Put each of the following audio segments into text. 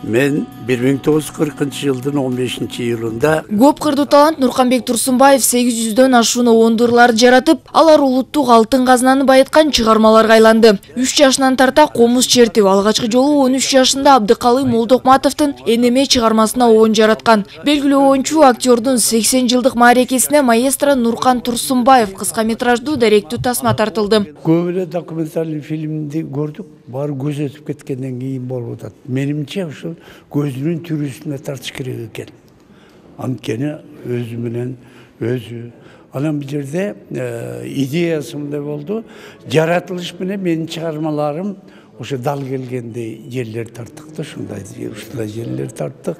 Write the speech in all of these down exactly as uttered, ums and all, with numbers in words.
Мен бир миң тогуз жүз кыркынчы жылдын он бешинчи июлунда көп кырдуу талант Нурканбек Турсунбаев сегиз жүздөн ашуун ондурларды жаратып, алар улуттук алтын казынаны байыткан чыгармаларга айланды. үч жашынан тарта комуз чертип, алгачкы жолу он үч жашында Абдыкалый Молдокматовдун Энеме чыгармасына оон жараткан. Белгилүү оюнчу актёрдун сексен жылдык маарекесине маэстро Нуркан Турсунбаев кыска метраждуу даректүү тасма тартылды. Көп эле документалдык фильмди көрдүк, баары көз өтүп кеткенден кийин болуп атат. Менимче ушул көзүнүн түрүсүнө тартыш керек экен. Анткени өзү менен өзү. Анан бул жерде идеясы мындай болду. Жаратылыш менен менин чыгармаларым ошо дал келгендей жерлер тарттык да, ушундай ушундай жерлер тарттык.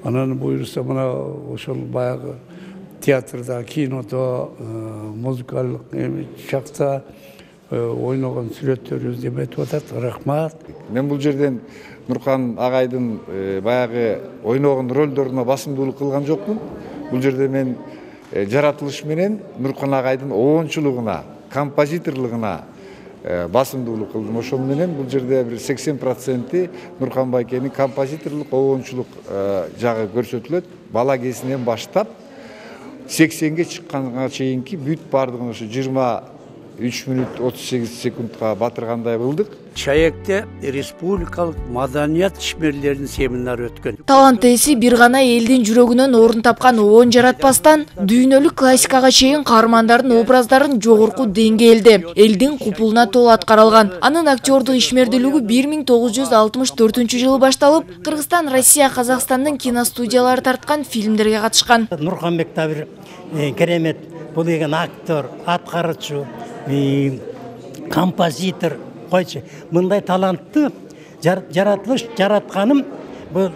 Анан буюрса мына ошол баягы театрда, кинодо, музыкалык чакта ойногон сүрөттөрүбүз эметип атат. Рахмат. Мен бул жерден Нуркан агайдын баягы ойногон ролдоруна басымдуулук кылган жокмун. Бул жерде мен жаратылыш менен Нуркан агайдын оончулугуна, композиторлугуна басымдуулук кылдым. Ошол менен бул жерде бир сексен проценти Нуркан байкенин композиторлук, оончулук жагы көрсөтүлөт. Бала кезинен баштап сексенге чыкканга чейинки бүт бардыгын ошо жыйырма үч мүнөт отуз сегиз секундка батыргандай кылдык. Чаекте республикалык маданият ишмерлеринин семинары өткөн. Талант ээси бир гана элдин жүрөгүнөн орун тапкан оон жаратпастан дүйнөлүк классикага чейин каармандардын образдарын жогорку деңгээлде, элдин купулуна толо аткарылган. Анын актёрдук ишмердүүлүгү бир миң тогуз жүз алтымыш төртүнчү жылы башталып, Кыргызстан, Россия, Казакстандын киностудиялары тарткан фильмдерге катышкан. Нурканбек да бир керемет бул деген актер, аткаруучу, композитор, койчу. Мындай талантты жаратылыш жаратканым бул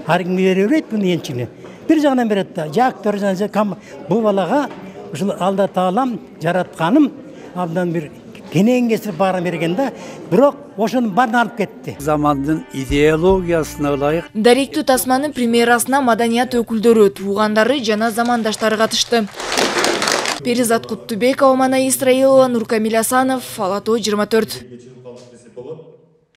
аргими берет муну энчине. Бир жагынан берет да, актер жана бул балага ушул Алла Таалам жаратканым абдан бир кенен кесип баарын берген да, бирок ошонун баарын алып кетти. Замандын идеологиясына ылайык даректүү тасманын премьерасына маданият өкүлдөрү, туугандары жана замандаштары катышты. Перизат Куттубекова, Мана Исраилова, Нуркамил Асанов, Ала Тоо жыйырма төрт.